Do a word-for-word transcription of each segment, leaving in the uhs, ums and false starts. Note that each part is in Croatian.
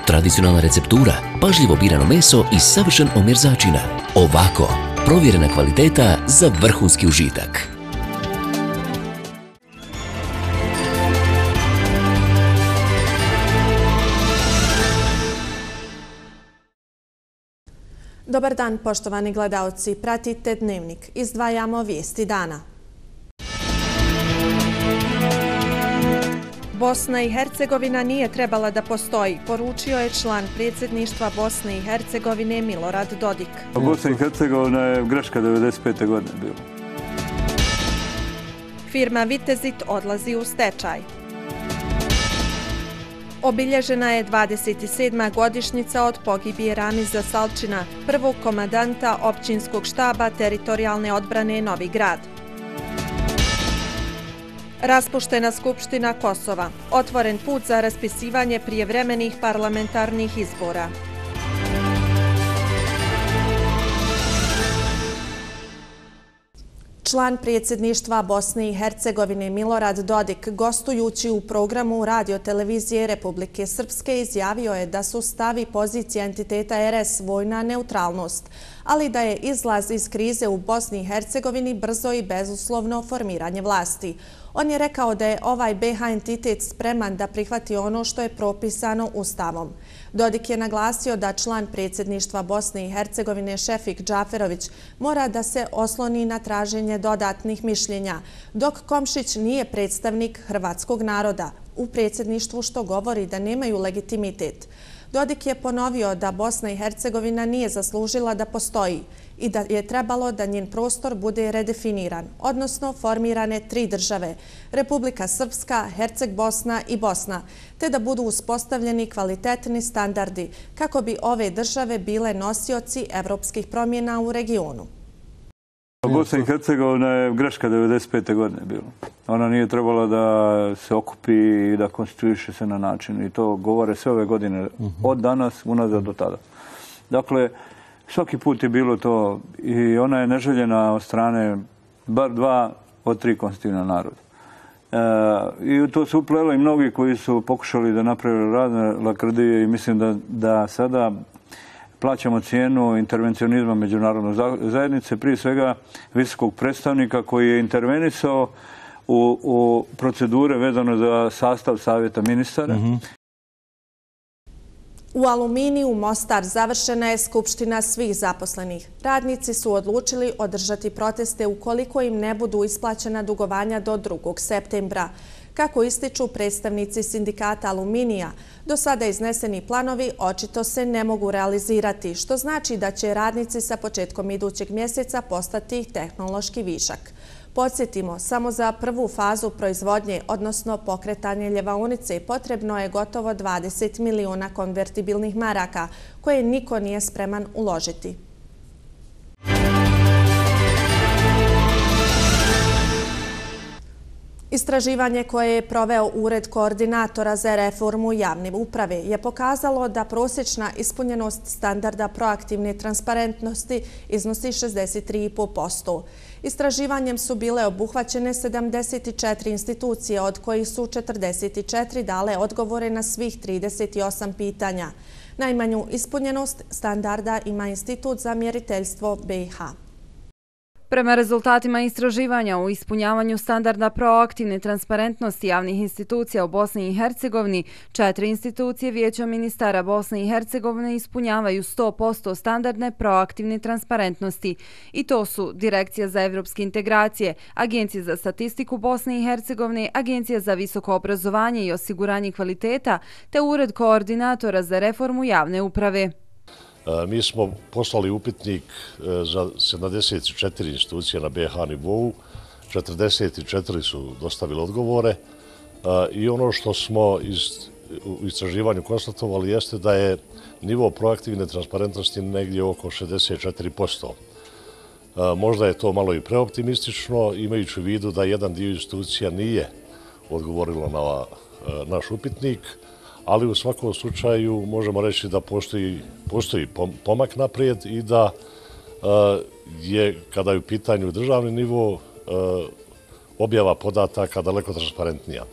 Tradicionalna receptura, pažljivo birano meso i savršen omjer začina. Ovako, provjerena kvaliteta za vrhunski užitak. Dobar dan, poštovani gledaoci. Pratite Dnevnik. Izdvajamo vijesti dana. Bosna i Hercegovina nije trebala da postoji, poručio je član predsjedništva Bosne i Hercegovine Milorad Dodik. Bosna i Hercegovina je greška devedeset pete godine bila. Firma Vitezit odlazi u stečaj. Obilježena je dvadeset sedma godišnjica od pogibije Ramiza Salčina, prvog komandanta općinskog štaba teritorijalne odbrane Novi Grad. Raspuštena Skupština Kosova. Otvoren put za raspisivanje prijevremenih parlamentarnih izbora. Član predsjedništva Bosne i Hercegovine Milorad Dodik, gostujući u programu radiotelevizije Republike Srpske, izjavio je da su stav i pozicija entiteta er es vojna neutralnost, ali da je izlaz iz krize u Bosni i Hercegovini brzo i bezuslovno formiranje vlasti. On je rekao da je ovaj be ha entitet spreman da prihvati ono što je propisano Ustavom. Dodik je naglasio da član predsjedništva Bosne i Hercegovine Šefik Džaferović mora da se osloni na traženje dodatnih mišljenja, dok Komšić nije predstavnik hrvatskog naroda u predsjedništvu, što govori da nemaju legitimitet. Dodik je ponovio da Bosna i Hercegovina nije zaslužila da postoji i da je trebalo da njen prostor bude redefiniran, odnosno formirane tri države, Republika Srpska, Herceg Bosna i Bosna, te da budu uspostavljeni kvalitetni standardi kako bi ove države bile nosioci evropskih promjena u regionu. Bosna i Hercegovina je greška devedeset pete godine bila. Ona nije trebala da se okupi i da konstituiše se na način. I to govore sve ove godine, od danas unazad do tada. Dakle, svaki put je bilo to i ona je neželjena od strane bar dva od tri konstitutivna naroda. E, I to su upleli mnogi koji su pokušali da naprave razne lakrdije i mislim da, da sada plaćamo cijenu intervencionizma međunarodne zajednice, prije svega visokog predstavnika koji je intervenisao u, u procedure vezano za sastav savjeta ministara. Mm-hmm. U Aluminiju Mostar završena je skupština svih zaposlenih. Radnici su odlučili održati proteste ukoliko im ne budu isplaćena dugovanja do drugog septembra. Kako ističu predstavnici sindikata Aluminija, do sada izneseni planovi očito se ne mogu realizirati, što znači da će radnici sa početkom idućeg mjeseca postati tehnološki višak. Podsjetimo, samo za prvu fazu proizvodnje, odnosno pokretanje ljevaonice, potrebno je gotovo dvadeset miliona konvertibilnih maraka, koje niko nije spreman uložiti. Istraživanje koje je proveo Ured koordinatora za reformu javne uprave je pokazalo da prosječna ispunjenost standarda proaktivne transparentnosti iznosi šezdeset tri zarez pet posto. Istraživanjem su bile obuhvaćene sedamdeset četiri institucije, od kojih su četrdeset četiri dale odgovore na svih trideset osam pitanja. Najmanju ispunjenost standarda ima Institut za mjeriteljstvo be ha. Prema rezultatima istraživanja u ispunjavanju standarda proaktivne transparentnosti javnih institucija u Bosni i Hercegovini, četiri institucije Vijeća ministara Bosne i Hercegovine ispunjavaju sto posto standardne proaktivne transparentnosti. I to su Direkcija za evropske integracije, Agencija za statistiku Bosne i Hercegovine, Agencija za visoko obrazovanje i osiguranje kvaliteta, te Ured koordinatora za reformu javne uprave. Mi smo poslali upitnik za sedamdeset četiri institucije na be ha nivou, četrdeset četiri su dostavili odgovore i ono što smo iz, u istraživanju konstatovali jeste da je nivo proaktivne transparentnosti negdje oko šezdeset četiri posto. Možda je to malo i preoptimistično, imajući u vidu da jedan dio institucija nije odgovorilo na naš upitnik, ali u svakom slučaju možemo reći da postoji, postoji pomak naprijed i da je, kada je u pitanju državni nivo, objava podataka daleko transparentnija.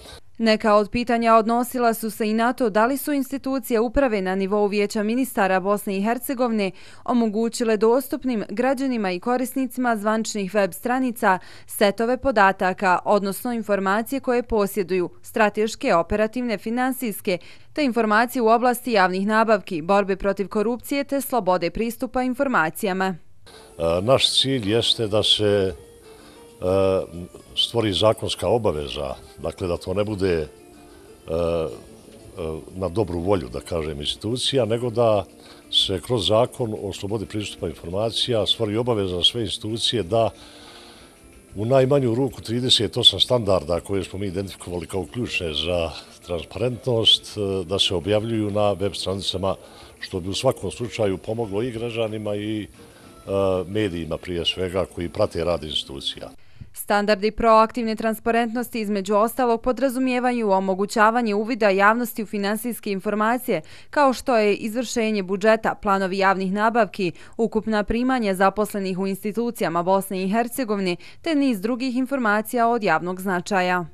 Neka od pitanja odnosila su se i na to da li su institucije uprave na nivou Vijeća ministara Bosne i Hercegovine omogućile dostupnim građanima i korisnicima zvaničnih web stranica setove podataka, odnosno informacije koje posjeduju, strateške, operativne, finansijske, te informacije u oblasti javnih nabavki, borbe protiv korupcije te slobode pristupa informacijama. Naš cilj jeste da se stvori zakonska obaveza, dakle da to ne bude na dobru volju, da kažem, institucija, nego da se kroz zakon o slobodi pristupa informacija stvori obaveza za sve institucije da u najmanju ruku trideset osam standarda koje smo mi identifikovali kao ključne za transparentnost, da se objavljuju na web stranicama, što bi u svakom slučaju pomoglo i građanima i medijima prije svega koji prate rad institucija. Standardi proaktivne transparentnosti između ostalog podrazumijevaju omogućavanje uvida javnosti u finansijske informacije, kao što je izvršenje budžeta, planovi javnih nabavki, ukupna primanja zaposlenih u institucijama Bosne i Hercegovine, te niz drugih informacija od javnog značaja.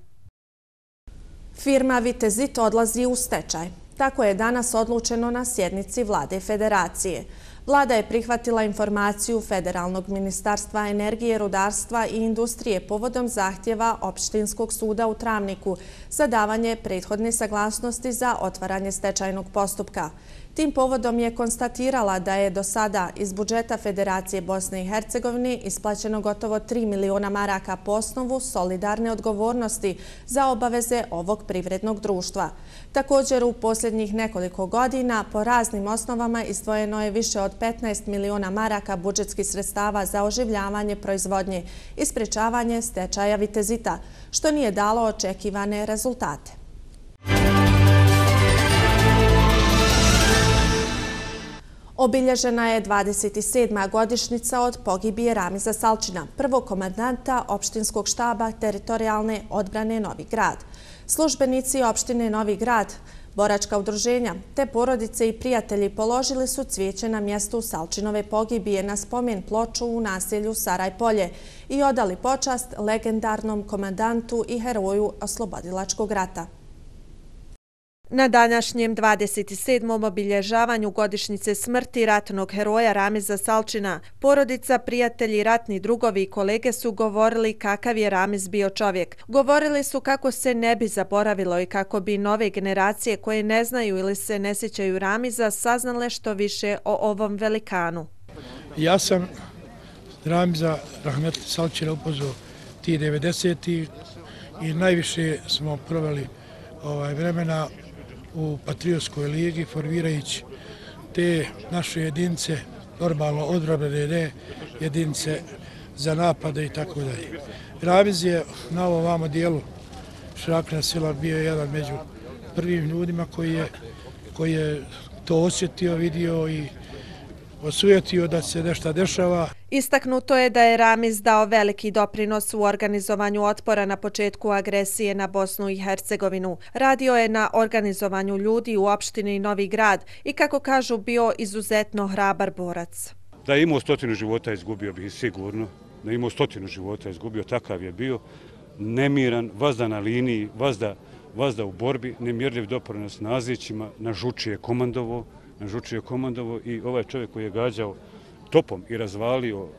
Firma Vitezit odlazi u stečaj. Tako je danas odlučeno na sjednici Vlade Federacije. Vlada je prihvatila informaciju Federalnog ministarstva energije, rudarstva i industrije povodom zahtjeva Opštinskog suda u Travniku za davanje prethodne saglasnosti za otvaranje stečajnog postupka. Tim povodom je konstatirala da je do sada iz budžeta Federacije Bosne i Hercegovine isplaćeno gotovo tri miliona maraka po osnovu solidarne odgovornosti za obaveze ovog privrednog društva. Također, u posljednjih nekoliko godina po raznim osnovama izdvojeno je više od petnaest miliona maraka budžetskih sredstava za oživljavanje proizvodnje i sprečavanje stečaja Vitezita, što nije dalo očekivane rezultate. Obilježena je dvadeset sedma godišnjica od pogibije Ramiza Salčina, prvog komandanta opštinskog štaba teritorijalne odbrane Novi Grad. Službenici opštine Novi Grad, boračka udruženja te porodice i prijatelji položili su cvijeće na mjestu Salčinove pogibije na spomen ploču u naselju Sarajpolje i odali počast legendarnom komandantu i heroju oslobodilačkog rata. Na današnjem dvadeset sedmom obilježavanju godišnjice smrti ratnog heroja Ramiza Salčina, porodica, prijatelji, ratni drugovi i kolege su govorili kakav je Ramiz bio čovjek. Govorili su kako se ne bi zaboravilo i kako bi nove generacije koje ne znaju ili se ne sjećaju Ramiza saznale što više o ovom velikanu. Ja sam Ramiza Rahmetli Salčina upoznao ti devedesetih i najviše smo proveli ovaj vremena u Patriotskoj ligi, formirajući te naše jedinice, normalno odbrambene jedinice za napade i tako dalje. Ramiz je na ovom vamo dijelu Šrakna sela bio jedan među prvim ljudima koji je, koji je to osjetio, vidio i osujetio da se nešto dešava. Istaknuto je da je Ramiz dao veliki doprinos u organizovanju otpora na početku agresije na Bosnu i Hercegovinu. Radio je na organizovanju ljudi u opštini Novi Grad i, kako kažu, bio izuzetno hrabar borac. Da je imao stotinu života, izgubio bih sigurno. Da je imao stotinu života, izgubio, takav je bio. Nemiran, vazda na liniji, vazda, vazda u borbi, nemjerljiv doprinos nazićima, na žuči je komandovo, na žuči je komandovo i ovaj čovjek koji je gađao topom i razvalio, uh,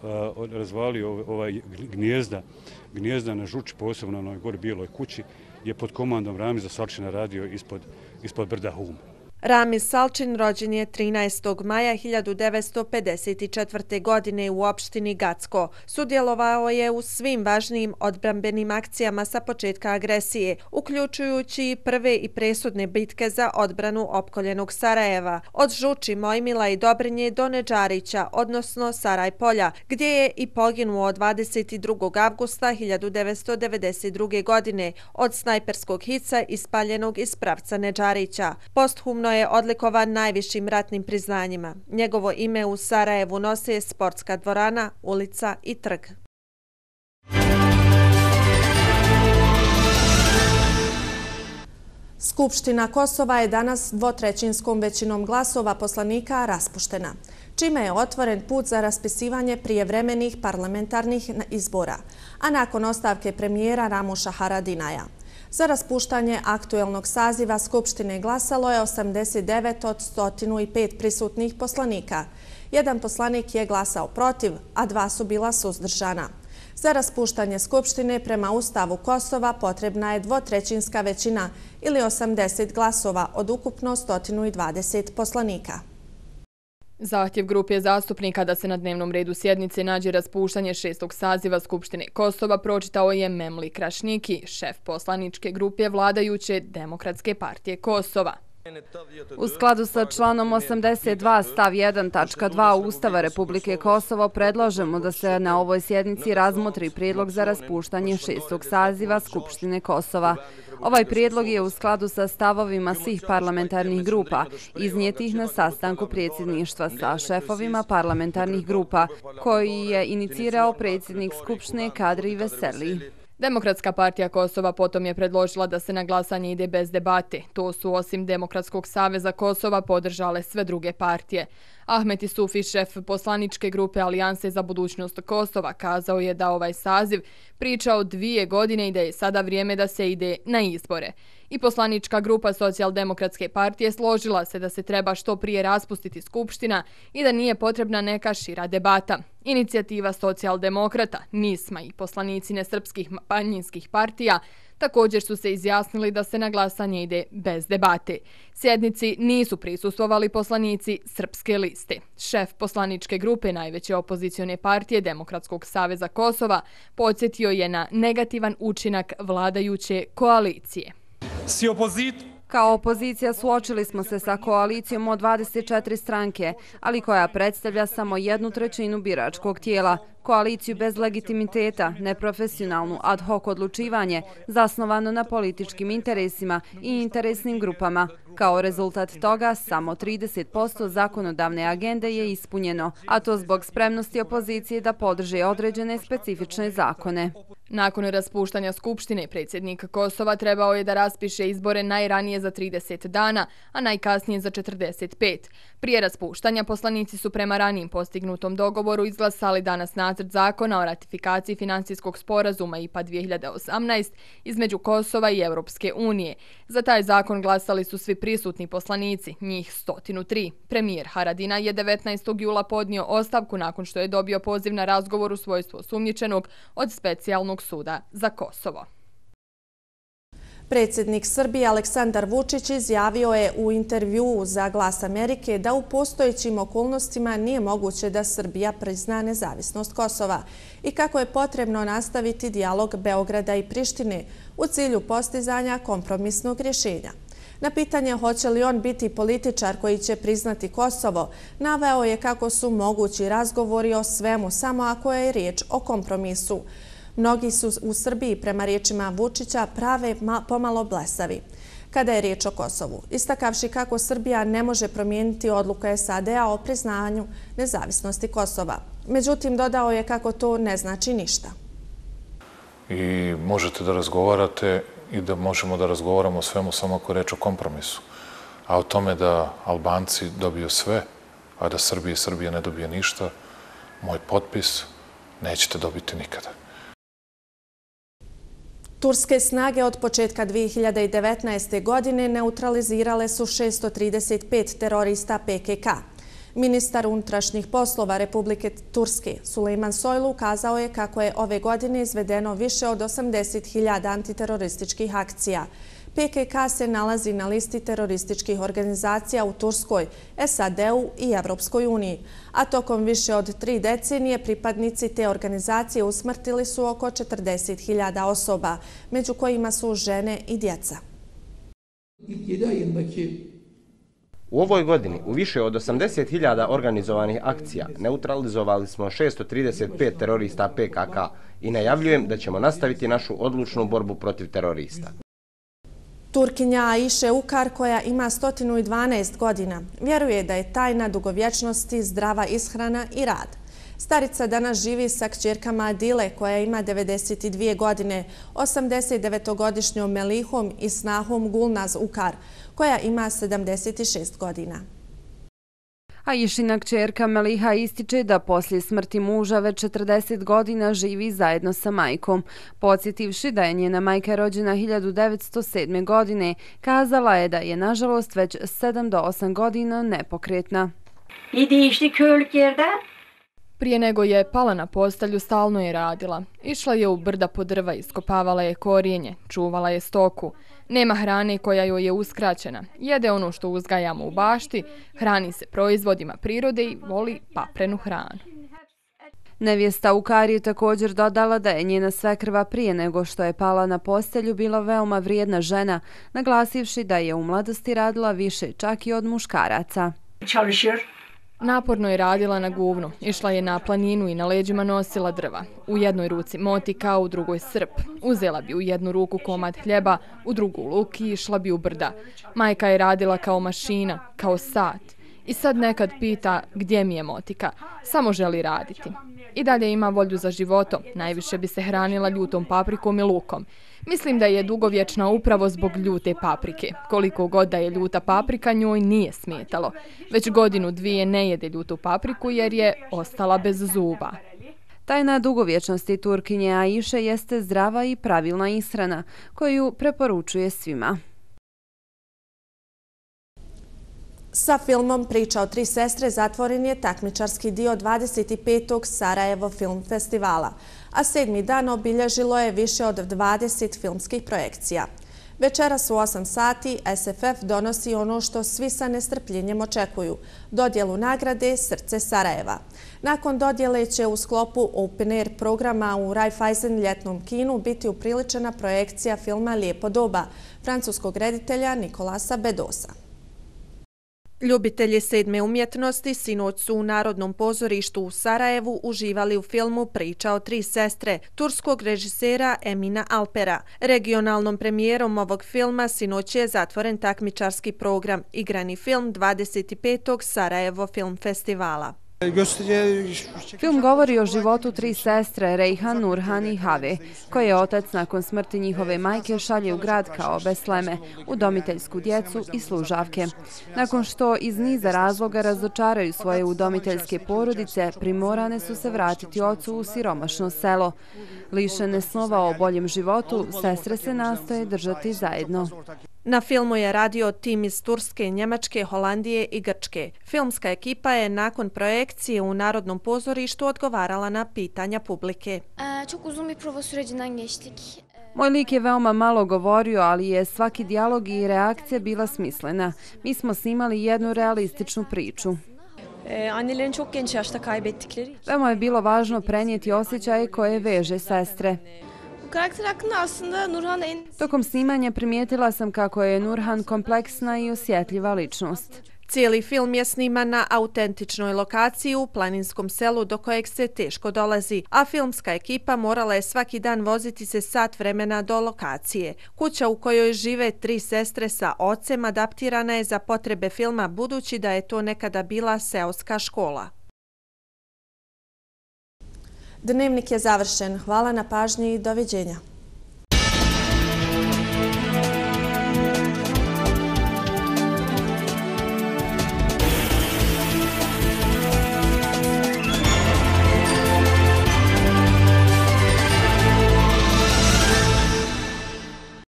razvalio ovaj gnijezda, gnijezda na žuči, posebno na onoj gori bijeloj kući, je pod komandom Ramiza Salčina radio ispod, ispod brda Hum. Ramiz Salčin rođen je trinaestog maja hiljadu devetsto pedeset četvrte. godine u opštini Gacko. Sudjelovao je u svim važnijim odbrambenim akcijama sa početka agresije, uključujući prve i presudne bitke za odbranu opkoljenog Sarajeva, od Žuči, Mojmila i Dobrinje do Nedžarića, odnosno Sarajpolja, gdje je i poginuo dvadeset drugog avgusta hiljadu devetsto devedeset druge. godine od snajperskog hica ispaljenog iz pravca Nedžarića. Posthumno je odlikovan najvišim ratnim priznanjima. Njegovo ime u Sarajevu nose sportska dvorana, ulica i trg. Skupština Kosova je danas dvotrećinskom većinom glasova poslanika raspuštena, čime je otvoren put za raspisivanje prijevremenih parlamentarnih izbora, a nakon ostavke premijera Ramuša Haradinaja. Za raspuštanje aktuelnog saziva Skupštine glasalo je osamdeset devet od sto pet prisutnih poslanika. Jedan poslanik je glasao protiv, a dva su bila suzdržana. Za raspuštanje Skupštine prema Ustavu Kosova potrebna je dvotrećinska većina ili osamdeset glasova od ukupno sto dvadeset poslanika. Zahtjev grupe zastupnika da se na dnevnom redu sjednice nađe raspuštanje šestog saziva Skupštine Kosova pročitao je Memli Krašniki, šef poslaničke grupe vladajuće Demokratske partije Kosova. U skladu sa članom osamdeset dva stav jedan tačka dva Ustava Republike Kosovo predlažemo da se na ovoj sjednici razmotri prijedlog za raspuštanje šestog saziva Skupštine Kosova. Ovaj prijedlog je u skladu sa stavovima svih parlamentarnih grupa, iznijetih na sastanku predsjedništva sa šefovima parlamentarnih grupa, koji je inicirao predsjednik Skupštine Kadri Veseli. Demokratska partija Kosova potom je predložila da se na glasanje ide bez debate. To su osim Demokratskog saveza Kosova podržale sve druge partije. Ahmet Isufi, šef poslaničke grupe Alijanse za budućnost Kosova, kazao je da ovaj saziv priča o dvije godine i da je sada vrijeme da se ide na izbore. I poslanička grupa Socijaldemokratske partije složila se da se treba što prije raspustiti Skupština i da nije potrebna neka šira debata. Inicijativa Socijaldemokrata, Nisma i poslanici nesrpskih manjinskih partija također su se izjasnili da se na glasanje ide bez debate. Sjednici nisu prisustvovali poslanici Srpske liste. Šef poslaničke grupe najveće opozicione partije Demokratskog saveza Kosova podsjetio je na negativan učinak vladajuće koalicije. Si opozit... Kao opozicija suočili smo se sa koalicijom od dvadeset četiri stranke, ali koja predstavlja samo jednu trećinu biračkog tijela. Koaliciju bez legitimiteta, neprofesionalnu ad hoc odlučivanje, zasnovano na političkim interesima i interesnim grupama. Kao rezultat toga, samo trideset posto zakonodavne agende je ispunjeno, a to zbog spremnosti opozicije da podrže određene specifične zakone. Nakon raspuštanja Skupštine, predsjednik Kosova trebao je da raspiše izbore najranije za trideset dana, a najkasnije za četrdeset pet. Prije raspuštanja poslanici su prema ranijim postignutom dogovoru izglasali danas nacrt zakona o ratifikaciji finansijskog sporazuma I P A dvije hiljade osamnaest između Kosova i Europske unije. Za taj zakon glasali su svi prisutni poslanici, njih sto tri. Premijer Haradinaj je devetnaestog jula podnio ostavku nakon što je dobio poziv na razgovor u svojstvu osumnjičenog od specijalnog suda za Kosovo. Predsjednik Srbije Aleksandar Vučić izjavio je u intervjuu za Glas Amerike da u postojećim okolnostima nije moguće da Srbija prizna nezavisnost Kosova i kako je potrebno nastaviti dijalog Beograda i Prištine u cilju postizanja kompromisnog rješenja. Na pitanje hoće li on biti političar koji će priznati Kosovo, naveo je kako su mogući razgovori o svemu samo ako je riječ o kompromisu. Mnogi su u Srbiji, prema riječima Vučića, prave pomalo blesavi kada je riječ o Kosovu, istakavši kako Srbija ne može promijeniti odluku S A D-a o priznanju nezavisnosti Kosova. Međutim, dodao je kako to ne znači ništa. I možete da razgovarate i da možemo da razgovaramo o svemu samo ako je riječ o kompromisu. A o tome da Albanci dobiju sve, a da Srbija i Srbija ne dobije ništa, moj potpis nećete dobiti nikada. Turske snage od početka dvije hiljade devetnaeste. godine neutralizirale su šesto trideset pet terorista P K K. Ministar unutrašnjih poslova Republike Turske Sulejman Soylu kazao je kako je ove godine izvedeno više od osamdeset hiljada antiterorističkih akcija. P K K se nalazi na listi terorističkih organizacija u Turskoj, S A D-u i Evropskoj uniji, a tokom više od tri decenije pripadnici te organizacije usmrtili su oko četrdeset hiljada osoba, među kojima su žene i djeca. U ovoj godini u više od osamdeset hiljada organizovanih akcija neutralizovali smo šesto trideset pet terorista P K K i najavljujem da ćemo nastaviti našu odlučnu borbu protiv terorista. Turkinja Aiše Ukar, koja ima sto dvanaest godina, vjeruje da je tajna dugovječnosti zdrava ishrana i rad. Starica danas živi sa kćerkama Adile, koja ima devedeset dvije godine, osamdeset devetogodišnjom Melihom i snahom Gulnaz Ukar, koja ima sedamdeset šest godina. Aishina kćerka Meliha ističe da poslije smrti muža već četrdeset godina živi zajedno sa majkom. Podsjetivši da je njena majka rođena hiljadu devetsto sedme. godine, kazala je da je nažalost već sedam do osam godina nepokretna. Prije nego je pala na postelju, stalno je radila. Išla je u brda po drva, iskopavala je korijenje, čuvala je stoku. Nema hrane koja joj je uskraćena. Jede ono što uzgajamo u bašti, hrani se proizvodima prirode i voli paprenu hranu. Nevjesta Ukari je također dodala da je njena svekrva prije nego što je pala na postelju bila veoma vrijedna žena, naglasivši da je u mladosti radila više čak i od muškaraca. Naporno je radila na guvnu, išla je na planinu i na leđima nosila drva. U jednoj ruci motika, u drugoj srp. Uzela bi u jednu ruku komad hljeba, u drugu luk i išla bi u brda. Majka je radila kao mašina, kao sat. I sad nekad pita gdje mi je motika. Samo želi raditi. I dalje ima volju za životom. Najviše bi se hranila ljutom paprikom i lukom. Mislim da je dugovječna upravo zbog ljute paprike. Koliko god da je ljuta paprika, njoj nije smetalo. Već godinu dvije ne jede ljutu papriku jer je ostala bez zuba. Tajna dugovječnosti Turkinje Aiše jeste zdrava i pravilna ishrana, koju preporučuje svima. Sa filmom Priča o tri sestre zatvoren je takmičarski dio dvadeset petog Sarajevo film festivala, a sedmi dan obilježilo je više od dvadeset filmskih projekcija. Večeras u osam sati S F F donosi ono što svi sa nestrpljenjem očekuju – dodjelu nagrade Srce Sarajeva. Nakon dodjele će u sklopu Open Air programa u Raiffeisen ljetnom kinu biti upriličena projekcija filma Lijepo doba francuskog reditelja Nikolasa Bedosa. Ljubitelji sedme umjetnosti sinoć su u Narodnom pozorištu u Sarajevu uživali u filmu Priča o tri sestre turskog režisera Emina Alpera. Regionalnom premijerom ovog filma sinoć je zatvoren takmičarski program Igrani film dvadeset petog Sarajevo film festivala. Film govori o životu tri sestre, Rejhan, Nurhan i Have, koje otac nakon smrti njihove majke šalje u grad kao besleme, udomiteljsku djecu i služavke. Nakon što iz niza razloga razočaraju svoje udomiteljske porodice, primorane su se vratiti ocu u siromašno selo. Lišene snova o boljem životu, sestre se nastoje držati zajedno. Na filmu je radio tim iz Turske, Njemačke, Holandije i Grčke. Filmska ekipa je nakon projekcije u Narodnom pozorištu odgovarala na pitanja publike. Moj lik je veoma malo govorio, ali je svaki dijalog i reakcija bila smislena. Mi smo snimali jednu realističnu priču. Veoma je bilo važno prenijeti osjećaje koje veže sestre. Tokom snimanja primijetila sam kako je Nurhan kompleksna i osjetljiva ličnost. Cijeli film je sniman na autentičnoj lokaciji u planinskom selu do kojeg se teško dolazi, a filmska ekipa morala je svaki dan voziti se sat vremena do lokacije. Kuća u kojoj žive tri sestre sa ocem adaptirana je za potrebe filma budući da je to nekada bila seoska škola. Dnevnik je završen. Hvala na pažnji i doviđenja.